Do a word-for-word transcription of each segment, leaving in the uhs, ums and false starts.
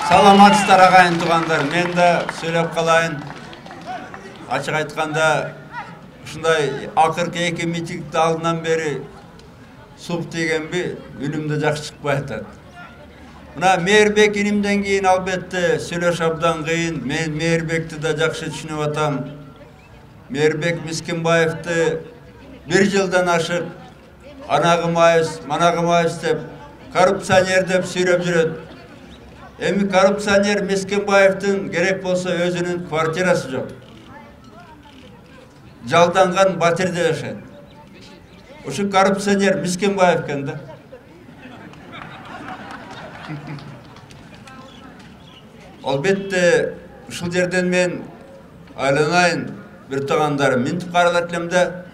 Саламатсыздар агайын туугандар. Мен да сүйлөп калайын. Ачык айтканда ушундай акыркы эки митингдин алдынан бери суп тийгенби, үнүмдө жакшы чыкпай атат. Мына Мээрбек инимден кийин албетте сүйлөшүп абдан кыйын. Мен Мээрбекти да жакшы түшүнүп атам. Мээрбек Мискинбаевди бир жылдан ашык анагымайбыз, манагымайбыз деп, коррупционер деп сүйлөп жүрөт. Эми коррупционер Мискинбаевдин керек болсо өзүнүн квартирасы жок. Жалданган батирде жашайт. Ушу коррупционер Мискинбаев экен да. Албетте ушул жерден мен айланайын бир туугандарым, минтип каралат элем да,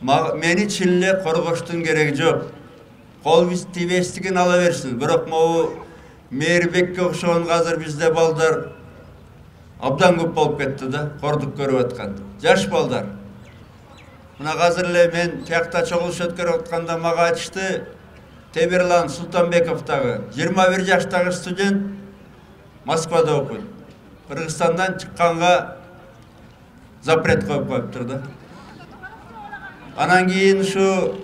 мени чын эле коргоштун кереги жок. Кол тийбестигин ала берсин. Бирок могу Мээрбекке окшогон азыр бизде балдар абдан көп болуп кетти да, кордук көрүп аткан. Жаш балдар. Мына азыр эле мен тиякта чогулуш өткөрүп атканда мага айтышты, Темирлан Султанбеков дагы жыйырма бир жаштагы студент Москвада окуйт. Кыргызстандан чыкканга запрет коюп коюптур да. Анан кийин ушу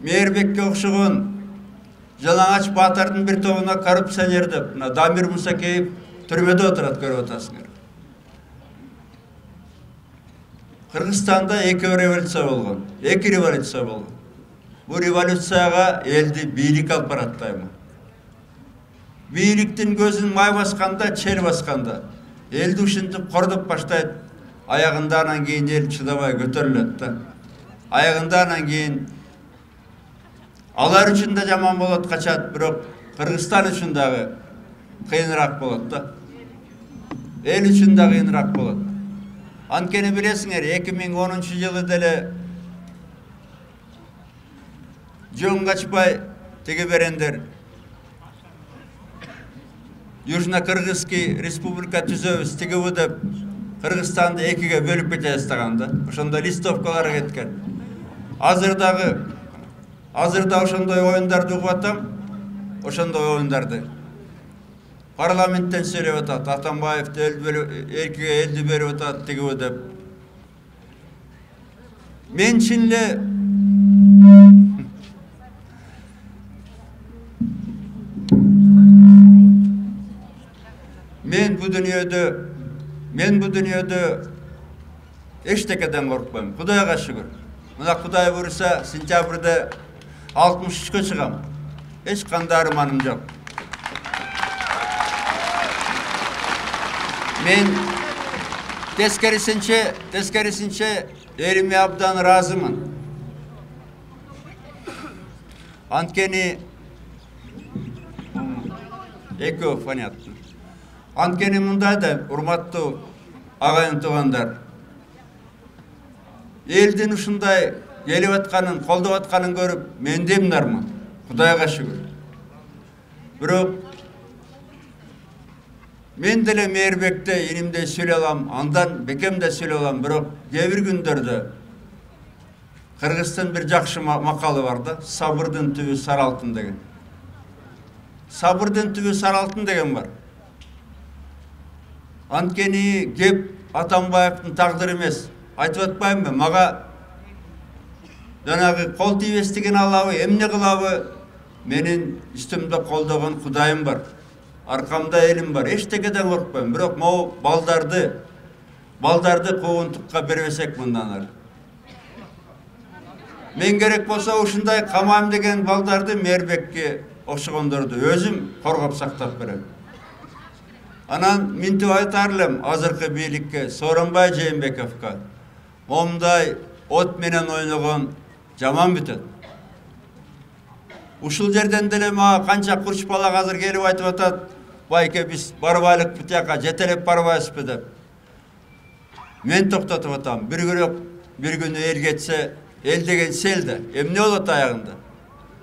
Мээрбекке окшогон Жалаңач Баатырдын бир тобуна коррупционер деп, мына Дамир Мусакеев түрмөдө отурат, көрүп атасыңар. Кыргызстанда эки революция болгон, эки революция болгон. Бул революцияга элди бийлик алып барат дайыма. Бийликтин көзүн май басканда, чел басканда, элди ушинтип кордоп баштайт. Аягында анан кийин эл чыдабай көтөрүлөт да. Аягында анан кийин алар үчүн да жаман болот, качат, бирок Кыргызстан үчүн дагы кыйыныраак болот да. Эл үчүн да кыйыныраак болот. Анткени билесиңер, эки миң онунчу жылы деле жөн качпай тиги берендер Южно-Кыргызский республика түзөбүз, тигиби деп Кыргызстанды экиге бөлүп кете баштаган да. Ошондо листовкалар кеткен. Азыр дагы Азыр да ошондой оюндарды угуп атам. Ошондой оюндарды парламенттен сүйлөп атат. Атамбаевди эркиге элди берип атат, тигиби деп. Мен чын эле Мен бу дүйнөдө мен бу дүйнөдө эчтекеден коркпойм. Кудайга шүгүр. Мына Кудай буйруса, сентябрда алтымыш үчкө чыгам. Эч кандай арманым жок. Мен тескерисинче, тескерисинче элиме абдан ыраазымын. Анткени экөө понятно. Анткени мындай да, урматтуу агайын туугандар, элдин ушундай келип атканын, колдоп атканын көрүп, мен де мынармын. Кудайга шүгүр. Бирок мен деле Мээрбекте инимдей сүйлөй алам, андан бекем да сүйлөй алам, бирок кээ бир күндөрдө Кыргыздын бир жакшы макалы бар да, сабырдын түбү сары алтын деген. Сабырдын түбү сары алтын деген бар. Анткени кеп Атамбаевдин тагдыры эмес. Айтып атпаймынбы, мага жанагы кол тийбестигин алабы, эмне кылабы? Менин үстүмдө колдогон Кудайым бар. Аркамда элим бар. Эчтекеден коркпойм. Бирок могу балдарды, балдарды куугунтукка бербесек мындан ары. Мен керек болсо ушундай камайм деген балдарды Мээрбекке окшогондорду өзүм коргоп сактап берем. Анан минтип айтар элем азыркы бийликке, Сооронбай Жээнбековго. Момундай от менен ойногон жаман бүтөт. Ушул жерден деле мага канча курч бала азыр келип айтып атат, байке биз барбайлык бутяка жетелеп барбайбызбы деп. Мен токтотуп атам. Бир күнү бир күнү эл кетсе, эл деген сел да. Эмне болот аягында?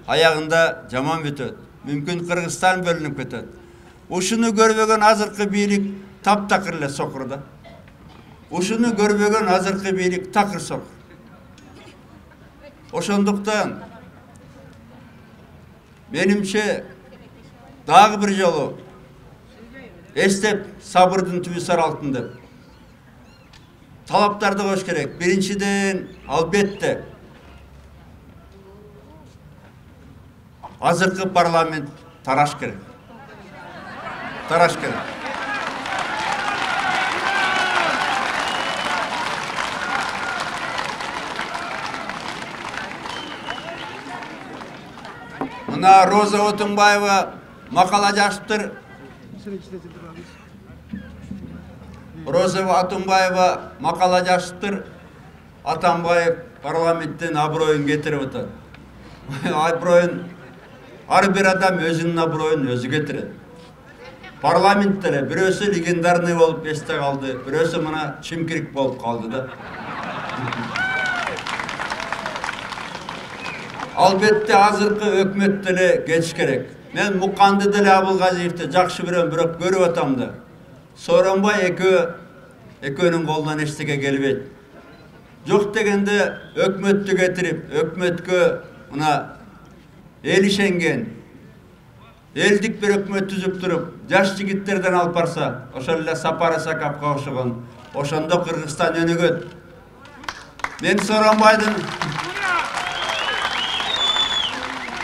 Аягында жаман бүтөт. Мүмкүн Кыргызстан бөлүнүп кетет. Ушуну көрбөгөн азыркы бийлик таптакыр эле сокур да. Ушуну көрбөгөн азыркы бийлик такыр сокур. Ошондуктан менимче дагы бир жолу эстеп сабырдын түбү сар алтын деп талаптарды коюш керек. Биринчиден, албетте азыркы парламент тараш керек. Тараш керек. Мына Роза Отунбаева макала жазыптыр. Роза Отунбаева макала жазыптыр. Атамбаев парламенттен аброюн кетирип атат. Аброюн ар бир адам өзүнүн аброюн өзү кетирет. Парламент деле бирөөсү легендарный болуп эсте калды, бирөөсү мына чимкирик болуп калды да. Албетте азыркы өкмөт деле кетиш керек. Мен Муканды деле Абылгазиевди жакшы билем, бирок көрүп атам да. Сооронбай экөө экөөнүн колунан эчтеке келбейт. Жок дегенде өкмөттү кетирип, өкмөткө мына эл ишенген, элдик бир өкмөт түзүп туруп, жаш жигиттерден алып барса, ошол эле Сапар Исаковго окшогон, ошондо Кыргызстан өнүгөт. Мен Сооронбайдын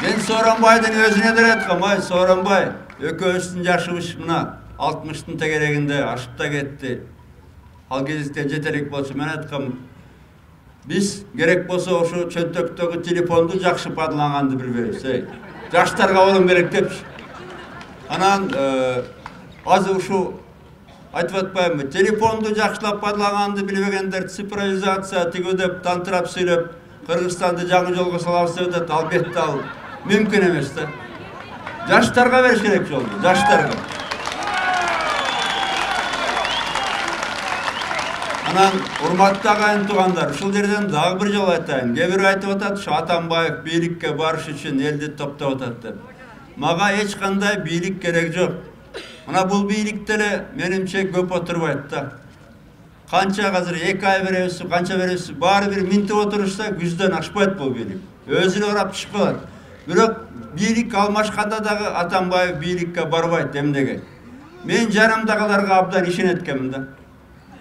Мен Сооронбайдын өзүнө деле айткам, ай Сооронбай, экөөбүздүн жашыбыз мына алтымыштын тегерегинде ашып да кетти. Ал кезде жетелик болчу. Мен айткам, биз керек болсо ошо чөнтөктөгү телефонду жакшы пайдаланганды билбейбиз. Жаштарга болом керек депчи. Анан азыр ушу айтып атпаймынбы, телефонду жакшылап пайдаланганды билбегендер цифровизация тигүү деп тантырап сүйлөп, Кыргызстанды жаңы жолго салабыз деп атат. Албетте ал мүмкүн эмес да. Жаштарга бериш керек жолду, жаштарга. Анан урматтуу агайын туугандар, ушул жерден дагы бир жолу айтайын. Кээ бирөө айтып атат, ушу Атамбаев бийликке барыш үчүн элди топтоп атат деп. Мага эч кандай бийлик керек жок. Мына бул бийлик деле менимче көп отурбайт да. Канча азыр эки ай беребиз, канча беребиз, баары бир минтип отурушса күздөн ашпайт бул бийлик. Өзү эле урап чыгып калат. Бирок бийлик алмашканда дагы Атамбаев бийликке барбайт эмнеге. Мен жанымдагыларга абдан ишенет экенмин да.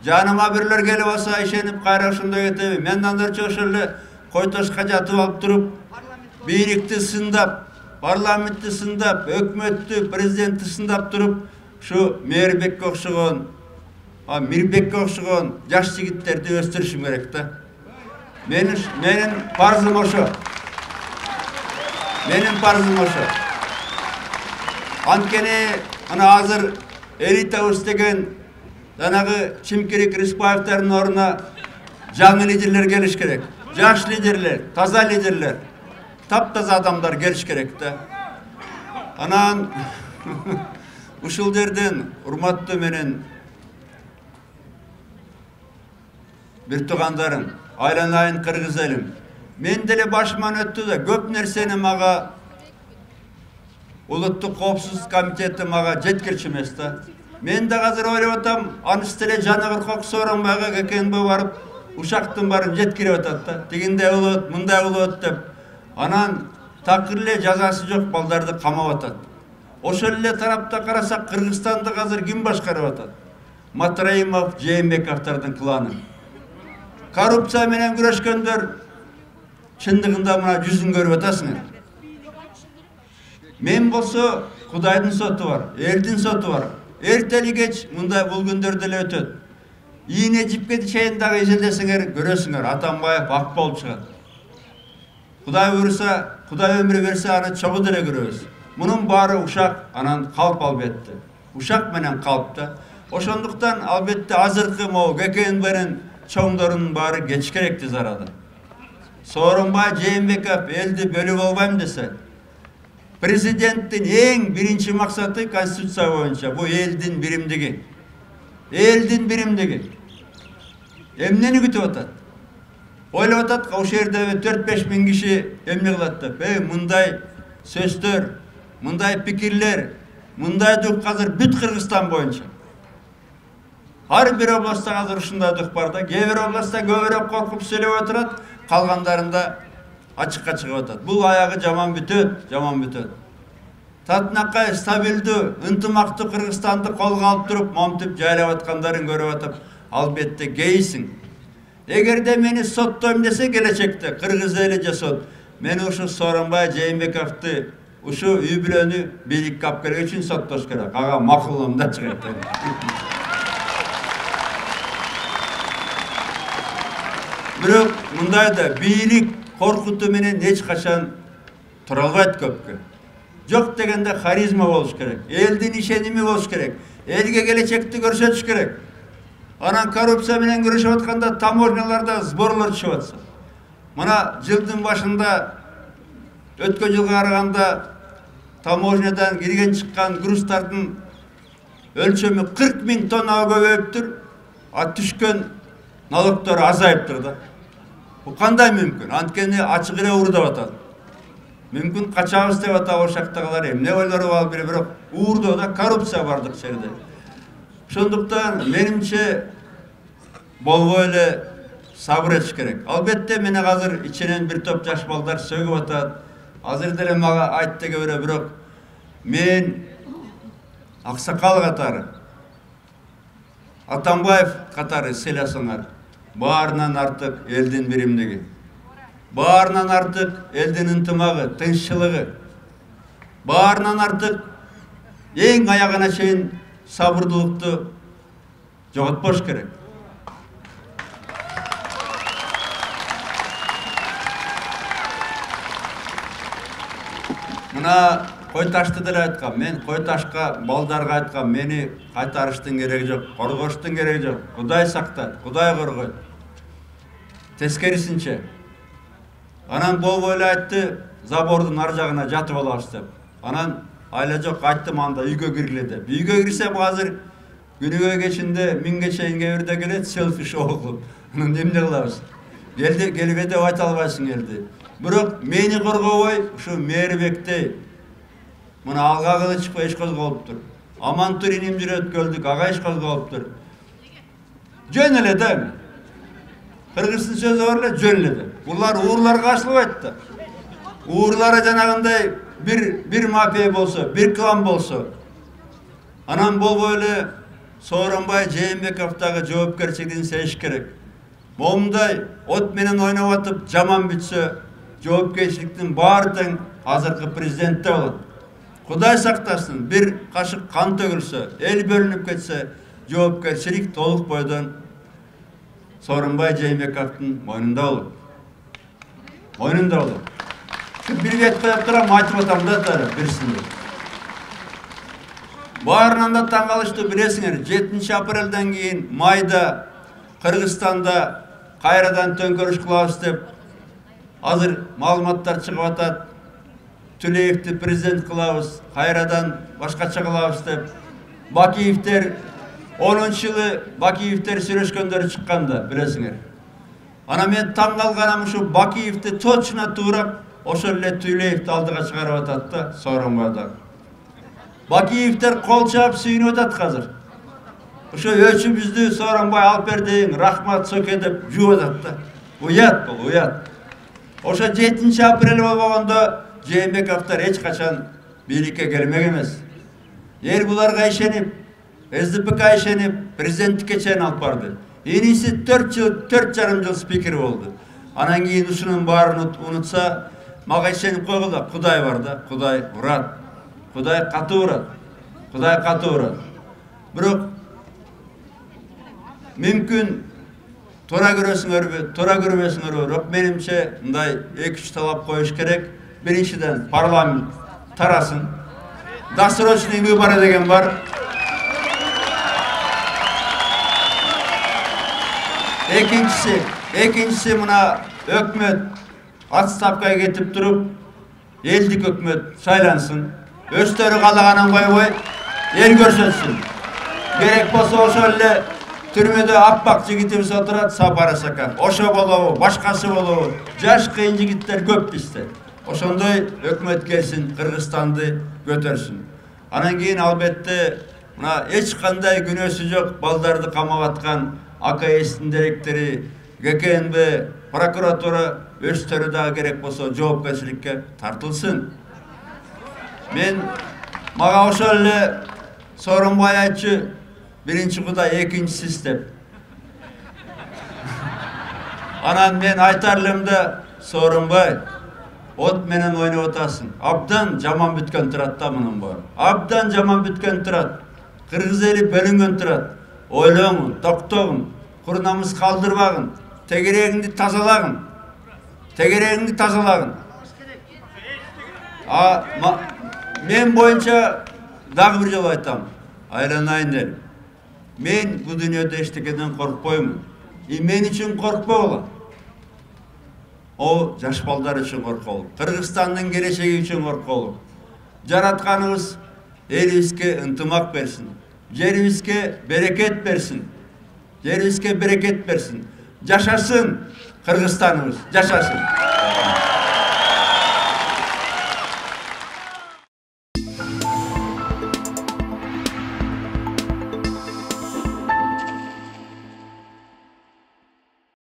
Жаныма бирлер келип алса ишенип кайра ошондой кетеби. Мен андырча ошол эле койтошко жатып алып туруп, бийликти сындап, парламентти сындап, өкмөттү, президентти сындап туруп, ушу Мээрбекке окшогон, Мирбекке окшогон жаш жигиттерди өстүрүшүм керек да. Менин менин парзым ошо. Менин парзым ошо. Анткени ана азыр элитабыз деген жанагы Чимкирик Рыспаевдардын ордуна жаңы лидерлер келиш керек. Жаш лидерлер, таза лидерлер, таптаза адамдар келиш керек да. Анан ушул жерден урматтуу менен бир туугандарым, айланайын кыргыз элим. Мен деле башыман өттү да, көп нерсени мага Улуттук коопсуздук комитети мага жеткирчү эмес да. Мен да азыр ойлоп атам, анысы деле Жаны Кыркок Сооронбайга Кекенбе барып, ушактын баарын жеткирип атат да. Тигиндей болот, мындай болот деп. Анан такыр эле жазасы жок балдарды камап атат. Ошол эле тарапта карасак, Кыргызстанды азыр ким башкарып атат? Матраимов, Жээнбековдордун кланы. Коррупция менен күрөшкөндөр чындыгында мына жүзүн көрүп атасыңар. Мен болсо Кудайдын соту бар, элдин соту бар. Эртели кеч мындай бул күндөрдө эле өтөт. Ийне жипке чейин дагы изилдесеңер көрөсүңөр, Атамбаев ак болуп чыгат. Кудай буйруса, Кудай өмүр берсе аны чогуу деле көрөбүз. Мунун баары ушак, анан калп албетте. Ушак менен калп да. Ошондуктан албетте азыркы могу Кекенбенин чоңдорунун баары кеч керек тез арада. Сооронбай Жээнбеков элди бөлүп албайм десе, президенттин эң биринчи максаты конституция боюнча бул элдин биримдиги. Элдин биримдиги. Эмнени күтүп атат? Ойлоп атат, ошол жерде төрт беш миң киши эмне кылат деп. Эй, мындай сөздөр, мындай пикирлер, мындай дух азыр бүт Кыргызстан боюнча. Ар бир областта азыр ушундай дух бар да. Кээ бир областта көбүрөөк коркуп сүйлөп отурат, калгандарында ачыкка чыгып атат. Бул аягы жаман бүтөт, жаман бүтөт. татынакай стабилдүү, ынтымактуу Кыргызстанды колго алып туруп, момтуп жайлап аткандарын көрүп атып, албетте кейсиң. Эгерде мени соттойм десе келечекте кыргыз эли же сот мени ушу Сооронбай Жээнбековду ушу үй бүлөнү бийликке алып келген үчүн соттош керек. Ага макулум да чыгат. Бирок мындайда бийлик коркутуу менен эч качан тура албайт көпкө. Жок дегенде харизма болуш керек, элдин ишеними болуш керек, элге келечекти көрсөтүш керек. Анан коррупция менен күрөшүп атканда таможняларда сборлор түшүп атса. Мына жылдын башында өткөн жылга караганда таможнядан кирген чыккан грузтардын өлчөмү кырк миң тоннага көбөйүптүр, а түшкөн налогдор азайыптыр да. Бул кандай мүмкүн? Анткени ачык эле уурдап атат. Мүмкүн качабыз деп атабы ошактагылар эмне ойлору бар бире, бирок уурдоодо коррупция бардык жерде. Ошондуктан менимче болбой эле сабыр этиш керек. Албетте мени азыр ичинен бир топ жаш балдар сөгүп атат. Азыр деле мага айт деге бере, бирок мен аксакал катары, Атамбаев катары сыйласаңар, баарынан артык элдин биримдиги, баарынан артык элдин ынтымагы, тынччылыгы, баарынан артык эң аягына чейин сабырдуулукту жоготпош керек. Мына Койташты деле айткам, мен Койташка балдарга айткам, мени кайтарыштын кереги жок, коргоштун кереги жок. Кудай сактайт, Кудай коргойт. Тескерисинче. Анан болбой эле айтты, забордун ар жагына жатып алабыз деп. Анан айла жок, айттым анда үйгө киргиле деп. Үйгө кирсем азыр күнүгө кечинде миңге чейин кээ келет, селфи шоу кылып. Анан эмне кылабыз? Келди, келбе деп айта албайсың элди. Бирок мени коргобой, ушу Мээрбекти мына алга кылычпы иш козголуптур. Амантурин имдир өткөлдүк, ага иш козголуптур. Жөн эле да. Кыргыздын сөзү бар эле, жөн эле. Булар уурларга ашылбайт да. Уурлары жанагындай бир бир мафия болсо, бир клан болсо, анан болбой эле Сооронбай Жээнбековдагы жоопкерчилигин сезиш керек. Момундай от менен ойноп атып жаман бүтсө, жоопкерчиликтин баары тең азыркы президентте болот. Кудай сактасын, бир кашык кан төгүлсө, эл бөлүнүп кетсе, жоопкерчилик толук бойдон Сооронбай Жээнбековдун мойнунда болот. Мойнунда болот. Бир бет коюп турам, айтып атам да тары бирсинде. Баарынан да таң калыштуу билесиңер, жетинчи апрелден кийин майда Кыргызстанда кайрадан төңкөрүш кылабыз деп азыр маалыматтар чыгып атат. Түлеевди президент кылабыз, кайрадан башкача кылабыз деп. Бакиевдер онунчу жылы Бакиевдер сүйлөшкөндөр чыкканда билесиңер. Ана мен таң калганым ушу Бакиевди точно туурап ошол эле Түлеевди алдыга чыгарып атат да Сооронбайда. Бакиевдер кол чаап сүйүнүп атат азыр. Ошо өчүбүздү Сооронбай алып бердиң, рахмат соке деп жууп атат да. Уят бул, уят. Ошо жетинчи апрель болбогондо Жээнбековдор эч качан бийликке келмек эмес. Эл буларга ишенип, эс дэ пэ ка ишенип, президенттикке чейин алып барды. Иниси төрт жыл, төрт жарым жыл спикер болду. Анан кийин ушунун баарын унутса, мага ишенип койгула, Кудай бар да, Кудай урат. Кудай катуу урат. Кудай катуу урат. Бирок мүмкүн туура көрөсүңөрбү, туура көрбөсүңөрбү, бирок менимче мындай эки үч талап коюш керек. Биринчиден парламент тарасын. Досрочный выборы деген бар. Экинчиси, экинчиси мына өкмөт отставкага кетип туруп, элдик өкмөт сайлансын. Өздөрү каалаганын койбой, эл көрсөтсүн. Керек болсо ошол эле түрмөдө аппак жигитибиз отурат, Сапар Сакан. Ошо болобу, башкасы болобу, жаш кыйын жигиттер көп бизде. Ошондой өкмөт келсин, Кыргызстанды көтөрсүн. Анан кийин албетте мына эч кандай күнөөсү жок балдарды камап аткан а ка эстин директори, гэ ка эн бэ, прокуратура өздөрү дагы керек болсо жоопкерчиликке тартылсын. Мен Мага ошол эле Сооронбай айтчу, биринчи Кудай, экинчи сиз деп. Анан мен айтар элем да, Сооронбай, от менен ойноп атасың. Абдан жаман бүткөн турат да мунун баары. Абдан жаман бүткөн турат. Кыргыз эли бөлүнгөн турат. Ойлоңун, токтогун, кур намыс калтырбагын, тегерегиңди тазалагын. Тегерегиңди тазалагын. А мен боюнча дагы бир жолу айтам. Айланайын эле. Мен бул дүйнөдө эчтекеден коркпоймун. И мен үчүн коркпогула. О жаш балдар үчүн корколу. Кыргызстандын келечеги үчүн корколу. Жаратканыбыз элибизге ынтымак берсин. Жерибизге берекет берсин. Жерибизге берекет берсин. Жашасын Кыргызстаныбыз, жашасын.